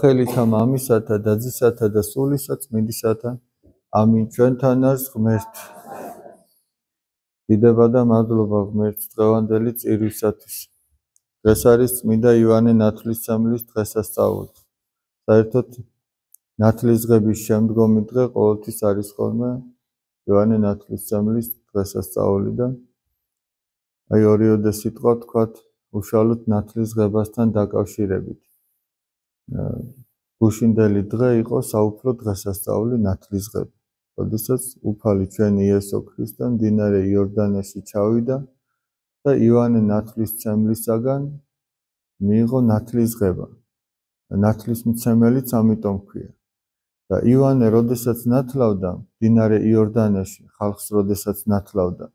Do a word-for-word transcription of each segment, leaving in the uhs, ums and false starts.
ხელითა მამისათა და ძისათა და სულისა წმინდისათა. ამინ. ჩვენთან არის ღმერთი. დიდება და მადლობა ღმერთს დღევანდელი წირვისათვის. დღეს არის წმინდა ივანე ნათლისმცემლის დღესასწაული. საერთოდ ნათლისღების შემდგომი დღე ყოველთვის არის ხოლმე ივანე ნათლისმცემლის დღესასწაული და აი ორიოდე სიტყვა თქვათ უშუალოდ ნათლისღებასთან დაკავშირებით. გუშინდელი დღე იყო საუფლო დღესასწაული ნათლისღება. როდესაც უფალი ჩვენი იესო ქრისტე მდინარე იორდანეში ჩავიდა და ივანე ნათლისმცემლისაგან მიიღო ნათლისღება. ნათლისმცემელიც ამიტომ ქვია. და ივანე როდესაც ნათლავდა მდინარე იორდანეში, ხალხს როდესაც ნათლავდა,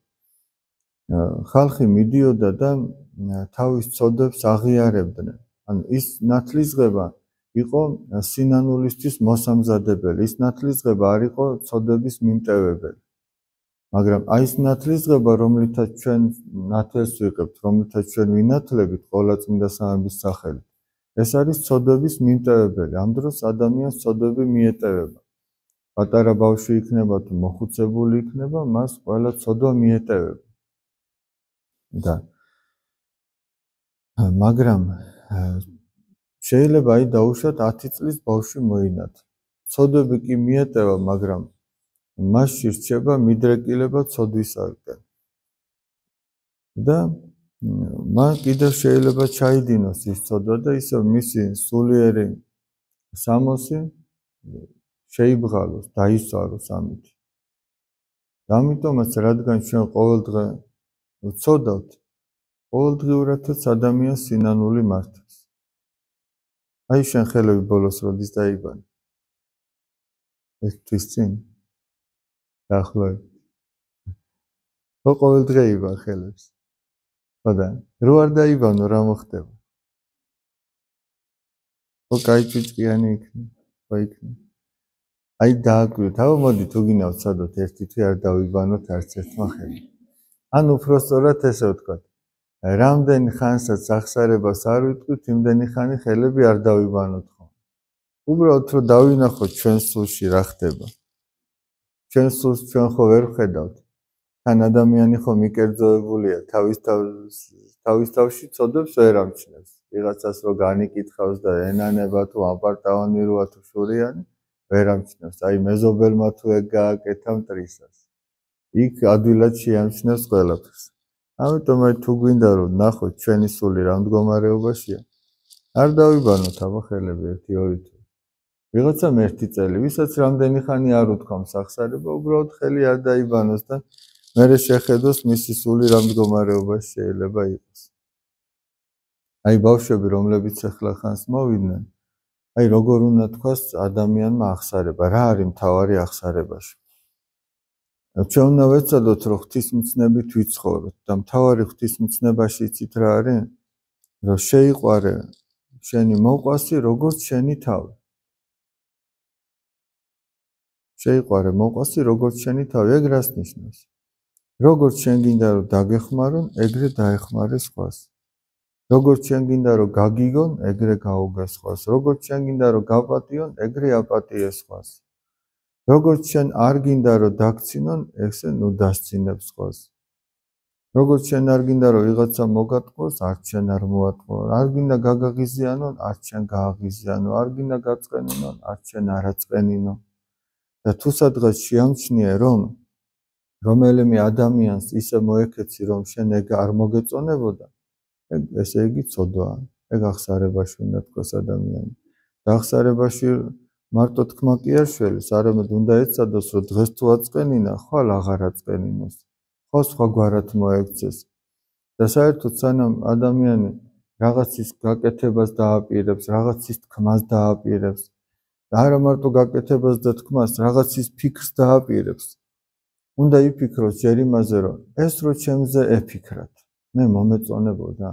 ხალხი მიდიოდა და თავის ცოდებს აღიარებდნენ. ანუ ის ნათლისღება იყო სინანულისთვის მოსამზადებელი. ის ნათლისღება არ იყო ცოდების მიმტევებელი. მაგრამ აი ეს ნათლისღება, რომლითაც ჩვენ ნათელს ვიღებთ, რომლითაც ჩვენ ვინათლებით ყოვლადწმინდა სამების სახელით, ეს არის ცოდების მიმტევებელი. ამ დროს ადამიანს ცოდები მიეტევება. პატარა ბავშვი იქნება თუ მოხუცებული იქნება, მას ყველა ცოდვა მიეტევება. და მაგრამ შეიძლება აი დაუშვათ ათი წლის ბავშვი მოინათლა. ცოდები კი მიეტევა, მაგრამ მასში რჩება მიდრეკილება ცოდვისაკენ. და მან კიდევ შეიძლება ჩაიდინოს ის ცოდვა და ისევ მისი სულიერი სამოსი შეიბღალოს, დაისვაროს ამით. ამიტომაც რადგან ჩვენ ყოველ დღე ვცოდავთ, ყოველდღიურადაც ადამიანს სინანული მართავს. აი შენ ხელები ბოლოს როდის დაიბანე? ეს თვის წინ? დაახლოებით. ხო ყოველ დღე იბან ხელებს. ხოდა, რო არ დაიბანო რა მოხდება? ხო კაი ჭუჭკიანი იქნება, ხო იქნება. აი დააკვირდით, აბა მოდი თუ გინდა ვცადოთ ერთი თვე არ დავიბანოთ არც ერთმა ხელი. ან უფრო სწორად ესე ვთქვათ, რამდენი ხანსაც ახსარებას არ ვიტყვით, იმდენი ხანი ხელები არ დავიბანოთ ხო. უბრალოდ რომ დავინახოთ ჩვენ სულში რა ხდება. ჩვენ სულს ჩვენ ხო ვერ ვხედავთ. თან ადამიანი ხო მიკერძოებულია, თავის თავის თავში ცოდებს ვერ ამჩნევს. ვიღაცას რო განიკითხავს და ენანება თუ აპარტავანი როა თუ შურიანი, ვერ ამჩნევს. აი მეზობელმა თუ ეგ გააკეთა მტრისას. იქ ადვილად შეამჩნევს ყველაფერს. ამიტომ აი თუ გვინდა რომ ნახოთ ჩვენი სული რა მდგომარეობაშია, არ დავიბანოთ აბა ხელები ერთი ორი თვე. ვიღაცამ ერთი წელი, ვისაც რამდენი ხანი არ უთქვამს ახსარება, უბრალოდ ხელი არ დაიბანოს და მერე შეხედოს მისი სული რა მდგომარეობაში შეიძლება იყოს. აი ბავშვები რომლებიც ახლა ხანს მოვიდნენ, აი როგორ უნდა თქვას ადამიანმა ახსარება, რა არის მთავარი ახსარებაში. ჩვენ უნდა ვეცადოთ რომ ღვთისმცნებით ვიცხოვროთ და მთავარი ღვთისმცნებაში იცით რა არის? რომ შეიყვარე შენი მოყვასი როგორც შენი თავი. შეიყვარე მოყვასი როგორც შენი თავი, ეგ რას ნიშნავს? როგორც შენ გინდა რომ დაგეხმარონ, ეგრე დაეხმარე სხვას. როგორც შენ გინდა რომ გაგიგონ, ეგრე გაუგე სხვას. როგორც შენ გინდა რომ გაპატიონ, ეგრე აპატიე სხვას. როგორც შენ არ გინდა რომ დაგცინონ, ესე ნუ დასცინებ სხვას. როგორც შენ არ გინდა რომ ვიღაცა მოგატყუოს, არც შენ არ მოატყუო. არ გინდა გაგაღიზიანონ, არც შენ გააღიზიანო. არ გინდა გაწყენინონ, არც შენ არაწყენინო. და თუ სადღაც შეამჩნიე რომ რომელიმე ადამიანს ისე მოეკეცი რომ შენ ეგ არ მოგეწონებოდა, ეგ ესე იგი ცოდვაა. ეგ ახსარებაში უნდა თქვას ადამიანი. და ახსარებაში მარტო თქმა კი არ შველის, არამედ უნდა ეცადოს რომ დღეს თუ აწყენინა, ხვალ აღარ აწყენინოს. ხო სხვაგვარად მოექცეს. და საერთოდ სანამ ადამიანი რაღაცის გაკეთებას დააპირებს, რაღაცის თქმას დააპირებს, და არა მარტო გაკეთებას და თქმას, რაღაცის ფიქრს დააპირებს, უნდა იფიქროს ჯერ იმაზე, რომ ეს რო ჩემზე ეფიქრათ, მე მომეწონებოდა.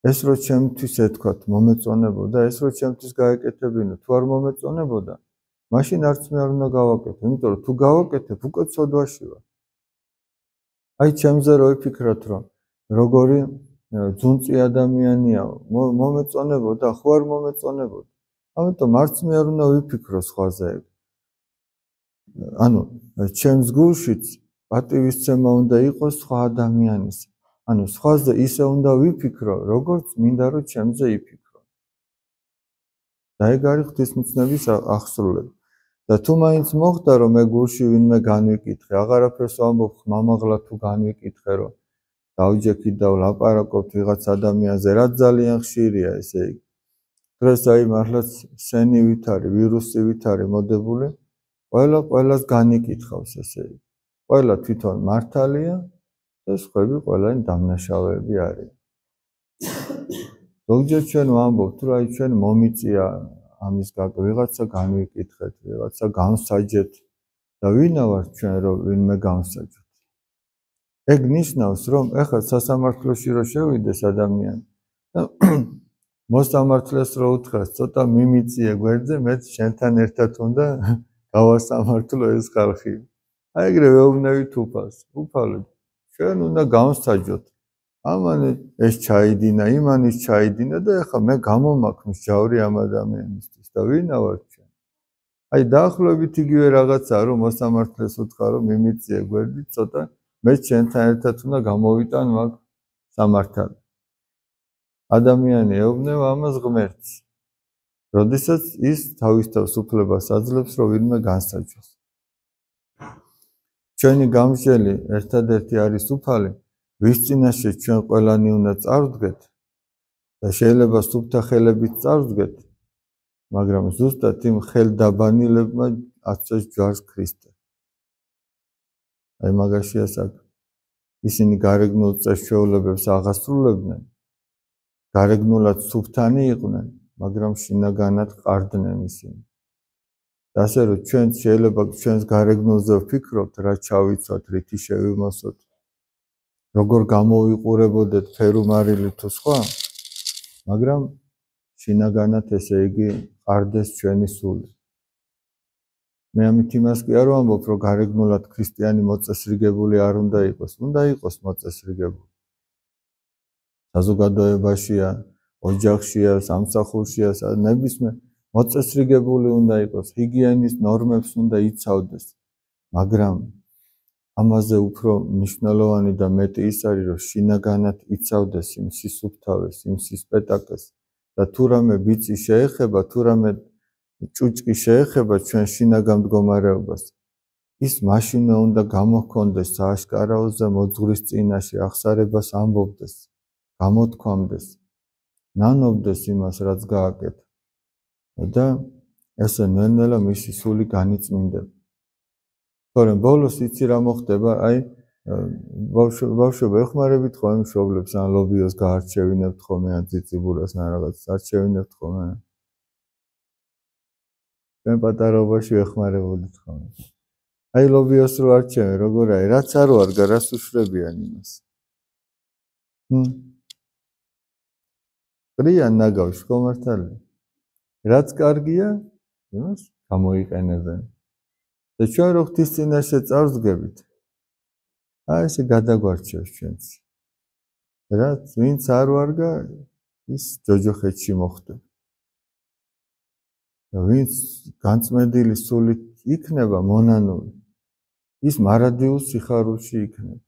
ეს რო ჩემთვის ეთქვათ, მომეწონებოდა, ეს რო ჩემთვის გაეკეთებინო, თუ არ მომეწონებოდა, მაშინ არც მე არ უნდა გავაკეთო, იმიტომ რომ თუ გავაკეთებ, უკვე ცოდვაში ვარ. აი ჩემზე რო იფიქრათ, რომ როგორი ძუნწი ადამიანია, მომეწონებოდა, ხო არ მომეწონებოდა. ამიტომ არც მე არ უნდა ვიფიქრო სხვაზე. ანუ ჩემს გულშიც პატივისცემა უნდა იყოს სხვა ადამიანის. ანუ სხვაზე ისე უნდა ვიფიქრო, როგორც მინდა რომ ჩემზე იფიქრო. და ეგ არის ღვთისმცნების აღსრულება. და თუ მაინც მოხდა რომ მე გულში ვინმე განვიკითხე, აღარაფერს ვამბობ ხმამაღლა თუ განვიკითხე რომ დავჯექით და ვლაპარაკობთ ვიღაც ადამიანზე, რაც ძალიან ხშირია ესე იგი. დღეს აი მართლაც სენივით არის, ვირუსივით არის მოდებული, ყველა ყველას განიკითხავს ესე იგი. ყველა თვითონ მართალია და სხვები ყველანი დამნაშავეები არის. ზოგჯერ ჩვენ ვამბობთ რომ აი ჩვენ მომიწია ამის გაკ ვიღაცა განვიკითხეთ, ვიღაცა განსაჯეთ და ვინა ვართ ჩვენ რომ ვინმე განსაჯოთ. ეგ ნიშნავს რომ ეხლა სასამართლოში რო შევიდეს ადამიანი და მოსამართლეს რო უთხრას ცოტა მიმიწიე გვერდზე, მეც შენთან ერთად უნდა გავასამართლო ეს ხალხი. აი ეგრე ვეუბნებით უფალს. უფალო, ჩვენ უნდა განსაჯოთ. ამან ეს ჩაიდინა, იმან ის ჩაიდინა და ეხლა მე გამომაქმნის ჯავრი ამ ადამიანისთვის და ვინა ვარ ჩვენ. აი დაახლოებით იგივე რაღაცაა რომ მოსამართლეს უთხრა რომ მიმიწიე გვერდი ცოტა მეც შენთან ერთად უნდა გამოვიტან მაგ სამართალი. ადამიანი ეუბნება ამას ღმერთს. როდესაც ის თავის თავს უფლებას აძლევს რომ ვინმე განსაჯოს. ჩვენი გამსჯელი ერთადერთი არის უფალი, ვის წინაშე ჩვენ ყველანი უნდა წარვდგეთ და შეიძლება სუფთა ხელებით წარვდგეთ, მაგრამ ზუსტად იმ ხელდაბანილებმა აცეს ჯვარს ქრისტე. აი მაგაშია საქმე. ისინი გარეგნულ წესჩვეულებებს აღასრულებდნენ, გარეგნულად სუფთანი იყვნენ, მაგრამ შინაგანად ყარდნენ ისინი. და ასე რომ ჩვენ შეიძლება ჩვენს გარეგნულზე ვფიქრობთ, რა ჩავიცვათ, რითი შევიმოსოთ, როგორ გამოვიყურებოდეთ ფერუმარილი თუ სხვა, მაგრამ შინაგანად ესე იგი ყარდეს ჩვენი სული. მე ამით იმას კი არ ვამბობ, რომ გარეგნულად ქრისტიანი მოწესრიგებული არ უნდა იყოს, უნდა იყოს მოწესრიგებული. საზოგადოებაშია, ოჯახშია, სამსახურშია, ნებისმიერ მოწესრიგებული უნდა იყოს, ჰიგიენის ნორმებს უნდა იცავდეს, მაგრამ ამაზე უფრო მნიშვნელოვანი და მეტი ის არის, რომ შინაგანად იცავდეს იმ სისუფთავეს, იმ სისპეტაკეს და თუ რამე ბიცი შეეხება, თუ რამე ჭუჭკი შეეხება ჩვენ შინაგან მდგომარეობას, ის მაშინ უნდა გამოჰქონდეს სააშკარაოზე მოძღვრის წინაშე აღსარებას ამბობდეს, გამოთქვამდეს, ნანობდეს იმას, რაც გააკეთა. და ესე ნელ-ნელა მისი სული განიწმინდება. თორემ ბოლოს იცი რა მოხდება, აი ბავშვობა ეხმარებით ხოლმე მშობლებს ან ლობიოს გაარჩევინებთ ხოლმე ან ციციბურას ან რაღაც არჩევინებთ ხოლმე. ჩვენ პატარაობაში ეხმარებოდით ხოლმე. აი ლობიოს რო არჩევენ, როგორ არის, რაც არ ვარგა, რას უშვებიან იმას. ჰმ. ყრიან ნაგავში ხო მართალია? რაც კარგია, იმას გამოიყენებენ. და ჩვენ რო ღვთის წინაშე წარვდგებით, აი ესე გადაგვარჩევს ჩვენც. რაც ვინც არ ვარგა, ის ჯოჯოხეთში მოხდება. და ვინც განწმენდილი სულით იქნება მონანული, ის მარადიულ სიხარულში იქნება.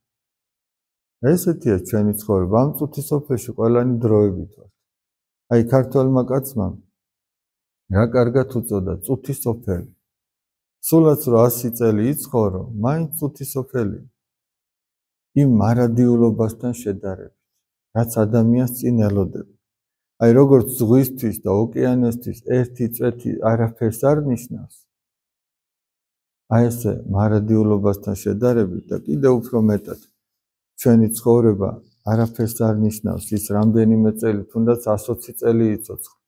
ესეთია ჩვენი ცხოვრება. ამ წუთის სოფელში ყველანი დროებით ვართ. აი ქართველმა კაცმა რა კარგად უწოდა წუთის სოფელი. სულაც რო ასი წელი იცხოვრო, მაინც წუთის სოფელი. იმ მარადიულობასთან შედარებით, რაც ადამიანს წინ ელოდება. აი როგორც ზღვისთვის და ოკეანესთვის ერთი წვეთი არაფერს არ ნიშნავს. აი ესე მარადიულობასთან შედარებით და კიდევ უფრო მეტად ჩვენი ცხოვრება არაფერს არ ნიშნავს, ის რამდენიმე წელი, თუნდაც ოცი წელი იცოცხლ.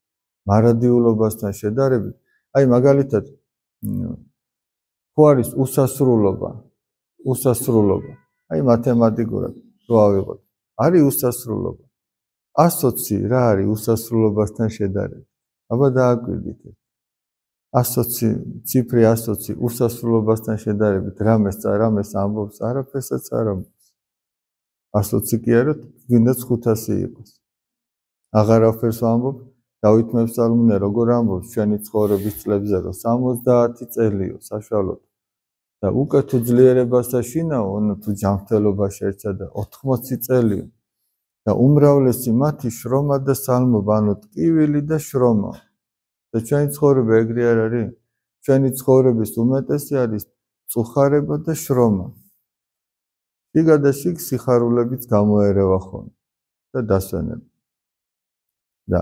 მარადიულობასთან შედარებით, აი მაგალითად ხო არის უსასრულობა, უსასრულობა. აი მათემატიკურად რო ავიღოთ, არის უსასრულობა. ოცი რა არის უსასრულობასთან შედარებით? აბა დააკვირდით. ოცი ციფრი ოცი უსასრულობასთან შედარებით რამეს რამეს ამბობს, არაფერსაც არ ამბობს. ოცი კი არა, გინდაც ხუთასი იყოს. აღარაფერს ვამბობ, დავით მეფსალმუნე როგორ ამბობს ჩვენი ცხოვრების წლებზე, რომ სამოცდაათი წელიო საშუალოდ და უკვე თუ ძლიერებასა შინაო, თუ ჯანმრთელობა შეერცა და ოთხმოცი წელიო და უმრავლესი მათი შრომა და სალმობა, ანუ ტკივილი და შრომა. და ჩვენი ცხოვრება ეგრე არ არის? ჩვენი ცხოვრების უმეტესი არის წუხარება და შრომა. შიგა და შიგ სიხარულებიც გამოერევა ხოლმე და დასვენება. და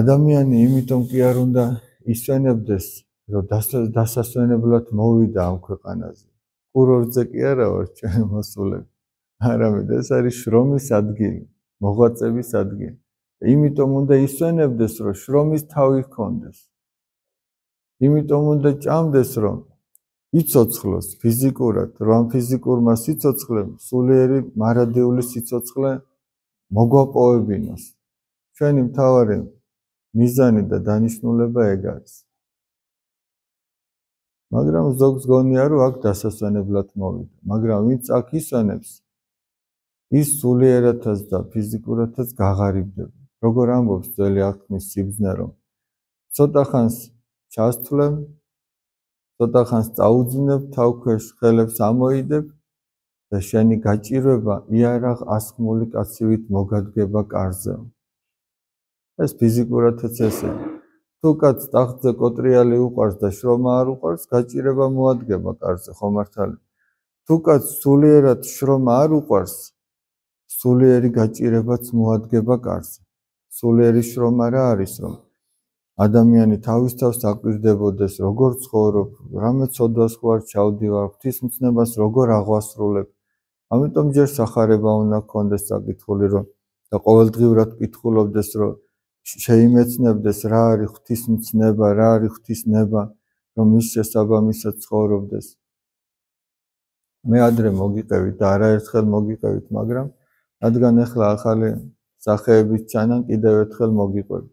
ადამიანი იმითომ კი არ უნდა ისვენებდეს, რომ დასასვენებლად მოვიდა ამ ქვეყანაზე. კურორტზე კი არა ვარ ჩვენ მოსულები. არამედ ეს არის შრომის ადგილი, მოღვაწების ადგილი. იმიტომ უნდა ისვენებდეს, რომ შრომის თავი ჰქონდეს. იმიტომ უნდა ჭამდეს, რომ იცოცხლოს ფიზიკურად, რომ ამ ფიზიკურმა სიცოცხლემ სულიერი მარადიული სიცოცხლე მოგვაპოვებინოს. ჩვენი მთავარი მიზანი და დანიშნულება ეგ არის. მაგრამ ზოგს გონია, რომ აქ დასასვენებლად მოვიდა. მაგრამ ვინც აქ ისვენებს, ის სულიერათაც და ფიზიკურათაც გაღარიბდება. როგორ ამბობს ძველი აღთქმის სიბრძნე, რომ ცოტა ხანს ჩასთვლებ, ცოტა ხანს წაუძინებ, თავქვეშ ხელებს ამოიდებ და შენი გაჭირვება იარაღ ასხმული კაცივით მოგადგება კარზე. ეს ფიზიკურათაც ესეა. თუ კაც ტახტზე კოტრიალი უყარს და შრომა არ უყარს, გაჭირება მოადგება კარზე, ხო მართალი? თუ კაც სულიერად შრომა არ უყარს, სულიერი გაჭირებაც მოადგება კარზე. სულიერი შრომა რა არის, რომ ადამიანი თავის თავს აკვირდებოდეს, როგორ ცხოვრობ, რამე ცოდვას ხო არ ჩავდივარ, ღვთისმცნებას როგორ აღვასრულებ. ამიტომ ჯერ სახარება უნდა გქონდეს საკითხული, რომ და ყოველდღიურად კითხულობდეს, რომ შეიმეცნებდეს რა არის ღვთისმცნება, რა არის ღვთისნება, რომ მის შესაბამისად ცხოვრობდეს. მე ადრე მოგიყევით და არაერთხელ მოგიყევით, მაგრამ რადგან ახლა ახალი სახეების ჩანან, კიდევ ერთხელ მოგიყვებით.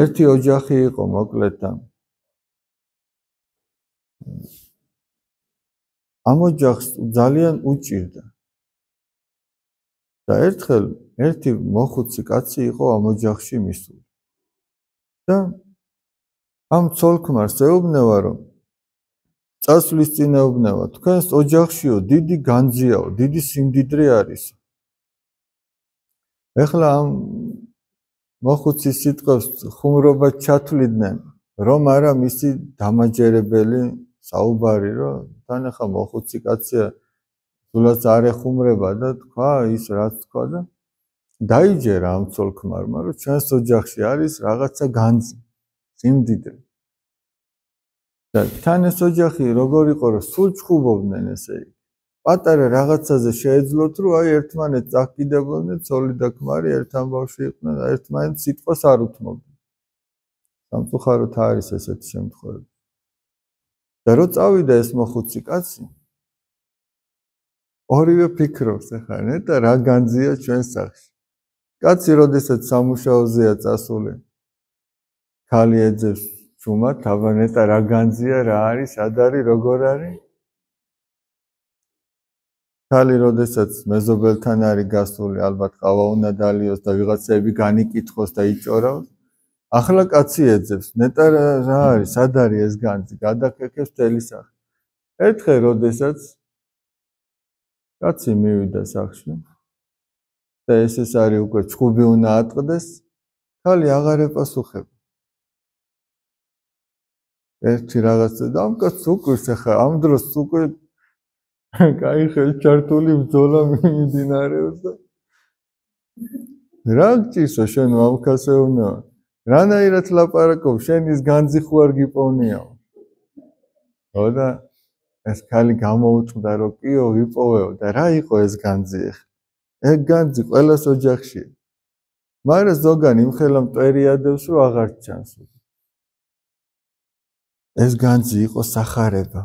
ერთი ოჯახი იყო მოკლედ და ამ ოჯახს ძალიან უჭირდა. და ერთხელ ერთი მოხუცი კაცი იყო ამ ოჯახში მისული. და ამ ცოლ-ქმარს ეუბნება, რომ წასვლის წინ ეუბნება, თქვენს ოჯახშიო დიდი განძიაო, დიდი სიმდიდრე არის. ეხლა ამ მოხუცის სიტყვებს ხუმრობა ჩათვლიდნენ, რომ არა მისი დამაჯერებელი საუბარი, რომ თან ახლა მოხუცი კაცია, სულაც არ ეხუმრება და თქვა ის რაც თქვა და დაიჯერა ამ ცოლ-ქმარმა, რომ ჩვენს ოჯახში არის რაღაცა განძი, სიმდიდრე. და თან ეს ოჯახი როგორ იყო, რომ სულ ჩხუბობდნენ ესე იგი. პატარა რაღაცაზე შეეძლოთ, რომ აი ერთმანეთს წაჰკიდებოდნენ, ცოლი და ქმარი ერთ ამბავში იყვნენ და ერთმანეთს სიტყვას არ უთმობდნენ. სამწუხაროდ არის ესეთი შემთხვევები. და რო წავიდა ეს მოხუცი კაცი, ორივე ფიქრობს ახლა, ნეტა რა განძია ჩვენს სახლში. კაცი როდესაც სამუშაოზეა წასული, ქალი ეძებს ჩუმად, აბა ნეტა რა განძია, რა არის, სად არის, როგორ არის? ქალი როდესაც მეზობელთან არის გასული, ალბათ ყავა უნდა დალიოს და ვიღაცები განიკითხოს და იჭორავს. ახლა კაცი ეძებს, ნეტა რა არის, სად არის ეს განძი, გადაკეთებს მთელი სახლი. ერთხელ როდესაც კაცი მივიდა სახლში და ეს ეს არის უკვე ჩხუბი უნდა ატყდეს, ქალი აღარ ეპასუხება. ერთი რაღაცა და ამ კაცს უკვირს ახლა ამ დროს უკვე კაი ხელჩართული ბრძოლა მიმდინარეობს და რა გჭირსო შენ ამქასეუნა? რანაირად ლაპარაკობ, შენ ის განძი ხო არ გიპოვნიაო? ხო და ეს ქალი გამოუწყდა, რომ კიო ვიპოვეო და რა იყო ეს განძი ახლა? ეგ განძი ყველას ოჯახშია. მაგრამ ზოგან იმხელა მტვერიადებს, რომ აღარ ჩანს. ეს განძი იყო სახარება.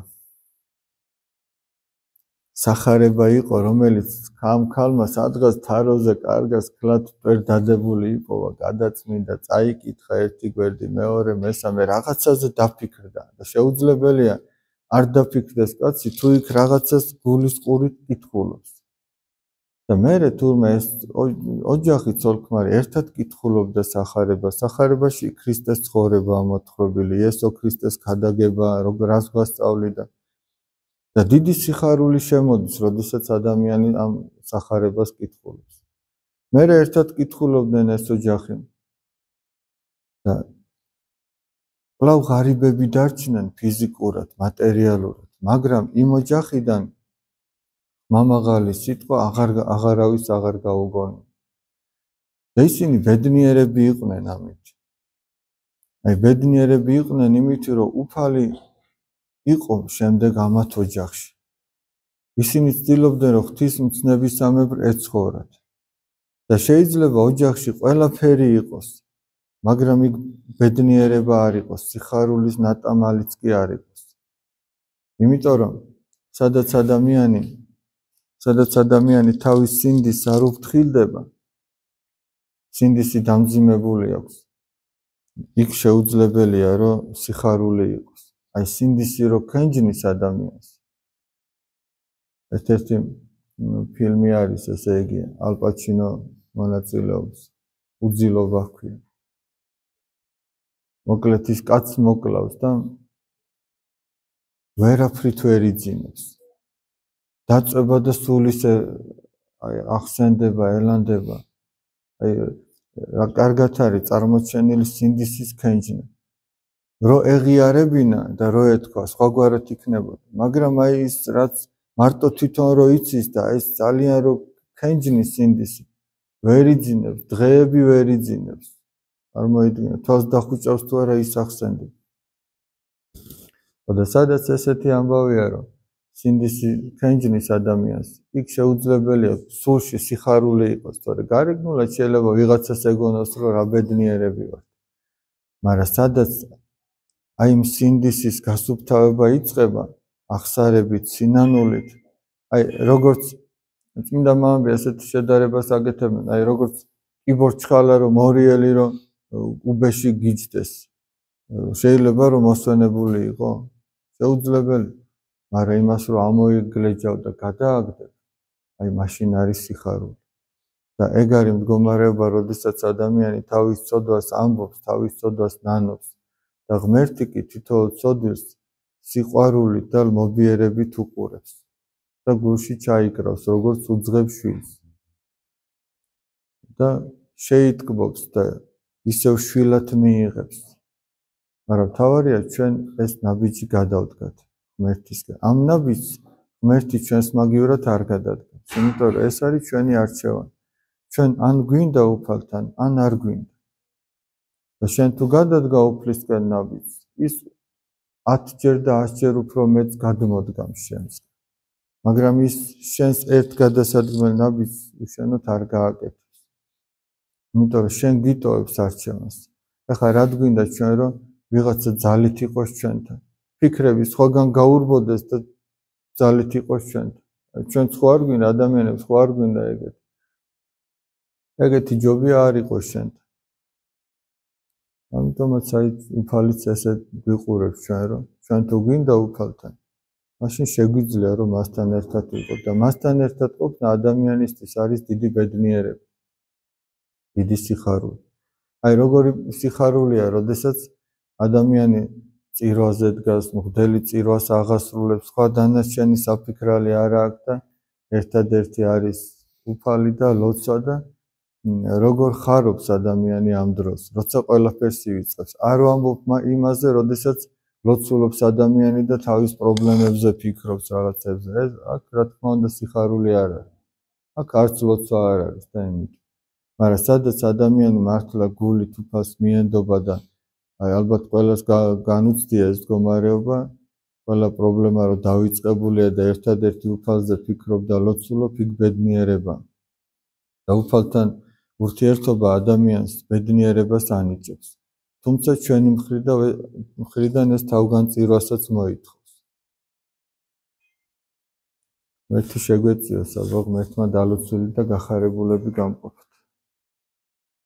სახარება იყო, რომელიც ამ ქალმა სადღაც თაროზე კარგას ქლად ვერ დადებული იპოვა, გადაწმინდა, წაიკითხა ერთი გვერდი, მეორე, მესამე, რაღაცაზე დაფიქრდა და შეუძლებელია არ დაფიქრდეს კაცი, თუ იქ რაღაცას გულის ყურით კითხულობს. და მერე თურმე ეს ოჯახი ცოლ-ქმარი ერთად კითხულობდა სახარებას, სახარებაში ქრისტეს ცხოვრება მოთხრობილი, იესო ქრისტეს ქადაგება, რას გვასწავლიდა და დიდი სიხარული შემოდის, როდესაც ადამიანი ამ სახარებას კითხულობს. მერე ერთად კითხულობდნენ ეს ოჯახი და კვლავ ღარიბები დარჩნენ ფიზიკურად, მატერიალურად, მაგრამ იმ ოჯახიდან მამაღალი სიტყვა აღარ აღარავის აღარ გაუგონია. და ისინი ბედნიერები იყვნენ ამით. აი ბედნიერები იყვნენ იმით, რომ უფალი იყო შემდეგ ამათ ოჯახში. ისინი ცდილობდნენ, რომ ღვთისმცნებისამებრ ეცხოვრათ. და შეიძლება ოჯახში ყველაფერი იყოს, მაგრამ იქ ბედნიერება არ იყოს, სიხარულის ნატამალიც კი არ იყოს. იმიტომ რომ სადაც ადამიანი სადაც ადამიანი თავის სინდის არ უფრთხილდება, სინდისი დამძიმებული აქვს. იქ შეუძლებელია, რომ სიხარული იყოს. აი სინდისი რო ქენჯნის ადამიანს. ერთ-ერთი ფილმი არის, ესე იგი, ალ პაჩინო მონაწილეობს, უძილობა ჰქვია. მოკლედ ის კაცს მოკლავს და ვერაფრით ვერ იძინებს. დაწვება და სულ ისე აი ახსენდება, ელანდება. აი რა კარგად არის წარმოჩენილი სინდისის ქენჯნა. რო ეღიარებინა და რო ეთქვა, სხვაგვარად იქნებოდა. მაგრამ აი ის რაც მარტო თვითონ რო იცის და ეს ძალიან რო ქენჯნის სინდისი, ვერ იძინებს, დღეები ვერ იძინებს. არ მოიდგინე, თავს დახუჭავს თუ არა ის ახსენდება. და სადაც ესეთი ამბავია, რომ სინდისი ქენჯნის ადამიანს, იქ შეუძლებელია სულში სიხარული იყოს, თორე გარეგნულად შეიძლება ვიღაცას ეგონოს, რომ რა ბედნიერები ვართ. მაგრამ სადაც აი იმ სინდისის გასუფთავება იწყება, ახსარებით, სინანულით, აი როგორც წმინდა მამები ასეთ შედარებას აკეთებენ, აი როგორც კიბორჩხალა რომ მორიელი რომ უბეში გიჯდეს, შეიძლება რომ მოსვენებული იყო, შეუძლებელი, მაგრამ იმას რომ ამოიგლეჯავ და გადააგდებ, აი მაშინ არის სიხარული. და ეგ არის მდგომარეობა, როდესაც ადამიანი თავის ცოდვას ამბობს, თავის ცოდვას ნანობს და ღმერთი კი თითოეულ ცოდვილს სიყვარულით და მობიერებით უყურებს და გულში ჩაიკრავს, როგორც უძღებს შვილს. და შეიტკბობს და ისევ შვილად მიიღებს. მაგრამ თავარია ჩვენ ეს ნაბიჯი გადავდგათ ღმერთისგან. ამ ნაბიჯს ღმერთი ჩვენს მაგივრად არ გადადგას, იმიტომ რომ ეს არის ჩვენი არჩევანი. ჩვენ ან გვინდა უფალთან, ან არ გვინდა. და შენ თუ გადადგა უფლისგან ნაბიჯს, ის ათჯერ და ასჯერ უფრო მეტს გადმოდგამს შენს. მაგრამ ის შენს ერთ გადასადგმელ ნაბიჯს უშენოდ არ გააკეთებს. იმიტომ რომ შენ გიტოვებს არჩევანს. ეხლა რა გვინდა ჩვენ რომ ვიღაცა ძალით იყოს ჩვენთან. ფიქრები სხვაგან გაურბოდეს და ძალით იყოს ჩვენთან. ჩვენ ხო არ გვინდა ადამიანებს, ხო არ გვინდა ეგეთი. ეგეთი ჯობია არ იყოს შენთან. ამიტომაც აი უფალიც ესე გვიყურებს ჩვენ რომ ჩვენ თუ გვინდა უფალთან, მაშინ შეგვიძლია რომ მასთან ერთად ვიყოთ და მასთან ერთად ყოფნა ადამიანისთვის არის დიდი ბედნიერება. დიდი სიხარული. აი როგორი სიხარულია, როდესაც ადამიანი წირვაზე დგას, მღვდელი წირვას აღასრულებს, სხვა დანარჩენი საფიქრალი არ აქვს და ერთადერთი არის უფალი და ლოცვა და როგორ ხარობს ადამიანი ამ დროს, როცა ყველაფერს ივიწყებს. არ ვამბობ იმაზე, როდესაც ლოცულობს ადამიანი და თავის პრობლემებზე ფიქრობს რაღაცებზე. ეს აქ რა თქმა უნდა სიხარული არ არის. აქ არც ლოცვა არ არის და იმით. მაგრამ სადაც ადამიანი მართლა გულით უფალს მიენდობა და აი ალბათ ყველას განუცდია ეს მდგომარეობა, ყველა პრობლემა რომ დავიწყებულია და ერთადერთი უფალზე ფიქრობ და ლოცულობ, იქ ბედნიერება. და უფალთან ურთიერთობა ადამიანს ბედნიერებას ანიჭებს. თუმცა ჩვენი მხრიდან ეს თავგანწირვასაც მოითხოვს. ღმერთი შეგვეციოს, აბა ღმერთმა დალოცული და გახარებულები გამყოფოთ.